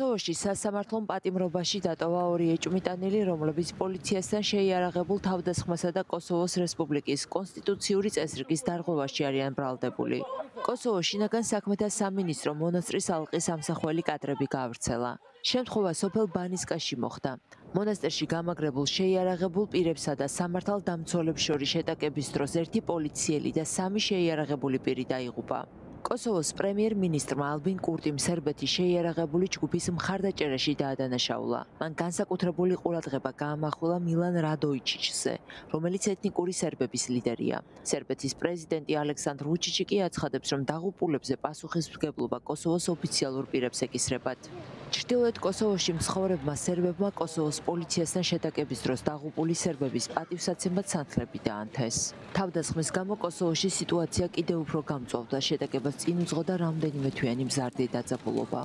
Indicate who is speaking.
Speaker 1: კოსოვოში სასამართლომ პატიმრობაში დატოვა ორი ეჭვმიტანილი, რომლებიც პოლიციასთან შეიარაღებულ თავდასხმასა და კოსოვოს რესპუბლიკის კონსტიტუციური წესრიგის დარღვევაში არიან ბრალდებული. კოსოვოს შინაგან საქმეთა სამინისტრო მონასტრის ალყის ამსახველი კადრები გაავრცელა. შემთხვევა სოფელ ბანისკაში მოხდა. მონასტერში გამაგრებულ შეიარაღებულ პირებსა და სამართალდამცველებს შორის შეტაკების დროს ერთი პოლიციელი და სამი შეიარაღებული პირი დაიღუპა. კოსოვოს პრემიერ-მინისტრმა ალბინ კურტიმ სერბეთის შეიარაღებული ჯგუფის მხარდაჭერაში დაადანაშაულა. მან განსაკუთრებული ყურადღება გაამახვილა მილან რადოიჩიჩზე, რომელიც ეთნიკური სერბების ლიდერია. სერბეთის პრეზიდენტი ალექსანდრ ვუჩიჩი კი აცხადებს, რომ დაღუპულებზე პასუხისმგებლობა კოსოვოს ოფიციალურ პირებს ეკისრებათ. ჩრდილოეთ კოსოვოში მცხოვრებმა სერბებმა კოსოვოს პოლიციასთან შეტაკების დროს დაღუპული სერბების პატივსაცემად სანთლები დაანთეს. თავდასხმის გამო კოსოვოში სიტუაცია კიდევ უფრო გამწვავდა, შეტაკებას წინ უძღოდა რამდენიმე თვიანი მზარდი დაძაბულობა.